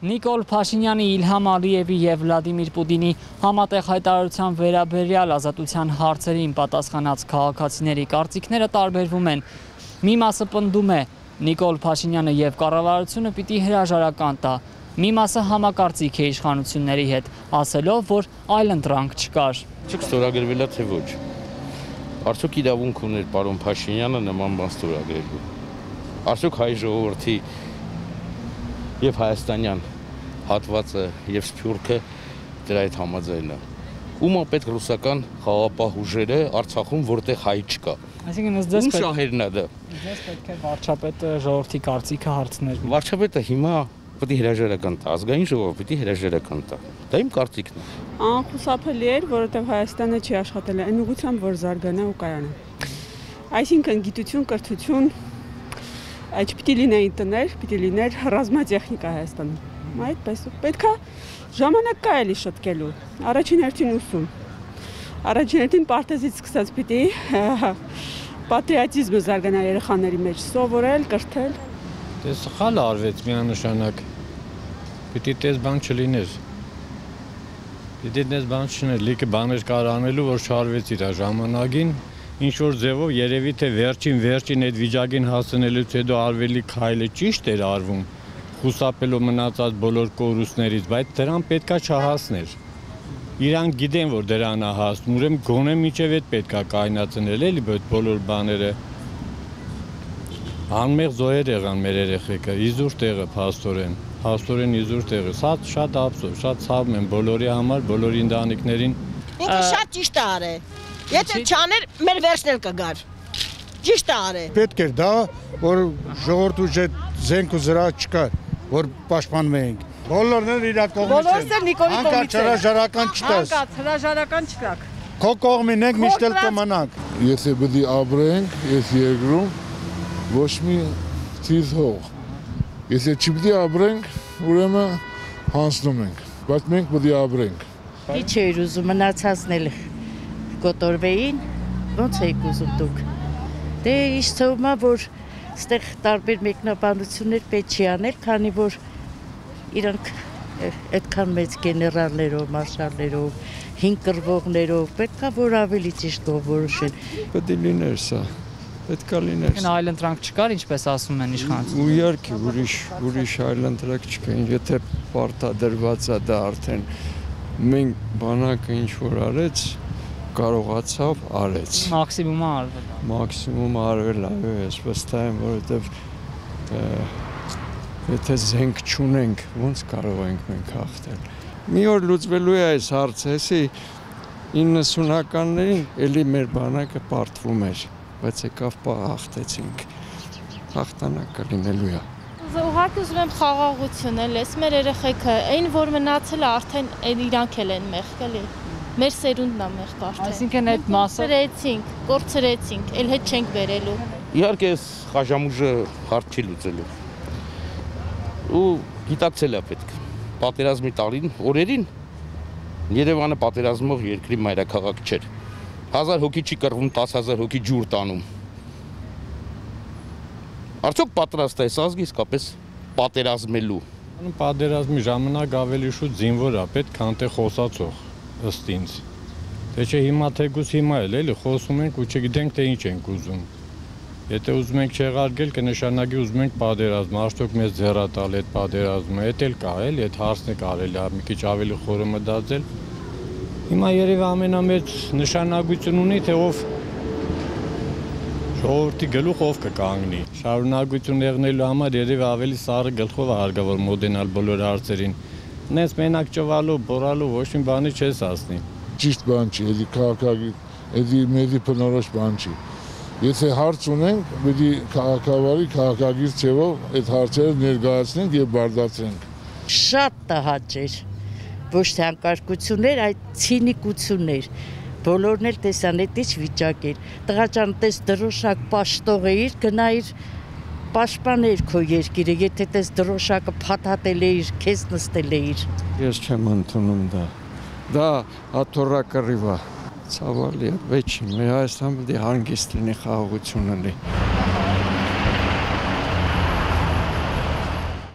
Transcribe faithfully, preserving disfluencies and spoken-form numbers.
Նիկոլ Փաշինյանի, Իլհամ Ալիևի և Վլադիմիր Պուտինի համատեղ հայտարարության վերաբերյալ ազատության հարցերին պատասխանած քաղաքացիների կարծիքները տարբերվում են։ Մի մասը պնդում է, Նիկոլ Փաշինյանը և կառավարությունը պիտի հրաժարական տա։ Մի մասը համակարծիք է իշխանությունների հետ, ասելով, որ այլընտրանք չկար։ Չեք ստորագրվել է թե ոչ։ Արդյոք իրավունք ուներ պարոն Փաշինյանը նման բան ստորագրելու։ Արդյոք հայ ժողովրդի և հայաստանյան հատվածը և սփյուռքը դրա հետ համաձայն է։ Ում է պետք ռուսական խաղաղապահ ուժերը Արցախում, որտեղ հայ չկա։ Այսինքն ըստ ձեզ Ում շահերն է դա։ Ձեզ պետք է վարչապետը ժողովրդի կարծիքը հարցներ։ Վարչապետը հիմա պետք է հրաժարական տա, ազգային ժողովը պետք է հրաժարական տա։ Դա իմ կարծիքն է։ Անխուսափելի էր, որովհետև Հայաստանը չի աշխատել այն ուղղությամբ, որ զարգանա ու կայանա։ Այսինքն գիտություն, կրթություն, այդ չպիտի լինեին տներ, պիտի լիներ ռազմատեխնիկա Հայաստանում։ Այդպես պետք է ժամանակ կա էլի շտկելու։ Առաջին հերթին ուսում։ Առաջին հերթին պարտեզից սկսած պիտի պատրիոտիզմը զարգանա երեխաների մեջ, սովորել, կրթել։ Դե սխալ արվեց միանշանակ։ Պիտի տես բան չլիներ։ Պիտի տես բան չլիներ, լիքը բաներ կար անելու, որ չարվեց իր ժամանակին։ Ինչ որ ձևով երևի թե վերջին վերջին այդ վիճակին հասնելուց հետո արվելի քայլը ճիշտ էր արվում, խուսափելով մնացած բոլոր կորուստներից, բայց դրան պետքա չհասներ։ Իրանք գիտեն, որ դրան է հասնում, ուրեմն գոնե միջև այդ պետքա կայնացնել էլի այդ բոլոր բաները։ Անմեղ զոհեր եղան մեր երեխեքը, իզուր տեղը փաստորեն, փաստորեն իզուր տեղը։ Սա շատ ափսոս, շատ ցավում եմ բոլորի համար, բոլոր ընտանիքներին։ Ինքը շատ ճիշտ է արել։ Եթե չաներ, մեր վերջն էլ կգար։ Ճիշտ է արել։ Պետք էր դա, որ ժողովրդու հետ զենք ու զրահ չկար, որ պաշտպանվեինք։ Բոլորն էլ իր կողմից են։ Բոլորս էլ Նիկոլի կողմից են։ Հանկարծ հրաժարական չտաս։ Հանկարծ հրաժարական չկաք։ Քո կողմին ենք, միշտ էլ կմնանք։ Եթե պետք է ապրենք այս երկրում, ոչ մի թիվ հող։ Եթե չպետք է ապրենք, ուրեմն հանձնում ենք, բայց մենք պետք է ապրենք։ Ինչ էր ուզում մնացածն էլ կոտորվեին, ոնց եք ուզում դուք։ Դե ինչ թվում է, որ այստեղ տարբեր մեկնաբանություններ պետք չի անել, քանի որ իրանք այդքան մեծ գեներալներով, մարշալներով, հին կռվողներով, պետք է որ ավելի ճիշտ որոշեն։ Պետք է լիներ սա, պետք է լիներ։ Այլընտրանք չկար, ինչպես ասում են իշխանությունները։ Ու իհարկե ուրիշ ուրիշ այլընտրանք չկա, եթե պարտադրված է դա արդեն մենք բանակը ինչ որ արեց, կարողացավ արեց։ Մաքսիմումը արվել։ Մաքսիմումը արվել, այո, ես վստահ եմ, որովհետև եթե զենք չունենք, ոնց կարող ենք մենք հաղթել։ Մի օր լուծվելու է այս հարցը, էսի իննսունականներին էլի մեր բանակը պարտվում էր, բայց եկավ հաղթեցինք։ Հաղթանակը լինելու է։ Ուղղակի ուզում եմ խաղաղություն էլ, ես մեր երեխեքը, այն որ մնացել է արդեն իրանք էլ են մեղք էլի։ Մեր սերունդն է մեղք արդեն։ Այսինքն այդ մասը կորցրեցինք, կորցրեցինք, էլ հետ չենք բերելու։ Իհարկե այս խաժամուժը հարց չի լուծելու։ Ու գիտակցել է պետք։ Պատերազմի տարին, օրերին Երևանը պատերազմող երկրի մայրաքաղաք չէր։ Հազար հոգի չի կռվում, տասը հազար հոգի ջուր տանում։ Արդյոք պատրաստ է այս ազգը իսկապես պատերազմելու։ Պատերազմի ժամանակ ավելի շուտ զինվոր է պետք, քան թե խոսացող, ըստ ինձ։ Թե չէ հիմա թեկուզ հիմա էլ էլի խոսում ենք ու չգիտենք թե ինչ ենք ուզում։ Եթե ուզում ենք չեղարկել, կնշանակի ուզում ենք պատերազմ, արդյոք մեզ ձեռատալ այդ պատերազմը, էդ էլ կա էլի, այդ հարցն է կարելի է մի քիչ ավելի խորը մտածել։ Հիմա երևի ամենամեծ նշանակություն ունի, թե ով ժողովրդի գլուխ ով կկանգնի։ Շարունակություն եղնելու համար երևի ավելի սառը գլխով է հարկավոր մոտենալ բոլոր հարցերին։ Նենց մենակ ճվալու, բորալու ոչ մի բանի չես ասնի։ Ճիշտ բան չի, էլի քաղաքագիր, էլի մեզի բնորոշ բան չի։ Եթե հարց ունենք, պետք է քաղաքավարի քաղաքագիր ձևով այդ հարցերը ներկայացնենք եւ բարձրացնենք։ Շատ տհաճ էր, ոչ թե անկարգություններ, այլ ցինիկություններ։ Բոլորն էլ տեսան այդ ինչ վիճակ էր։ Տղա ջան, տես դրոշակ պաշտող էիր, գնայիր պաշտպաներ քո երկիրը, եթե տես դրոշակը փաթաթել էիր, քեզ նստել էիր։ Ես չեմ ընդունում դա։ Դա աթոռակռիվ է։ Ցավալի է, վեճ, մեր Հայաստանը պետք է հանգիստ լինի, խաղաղություն լինի։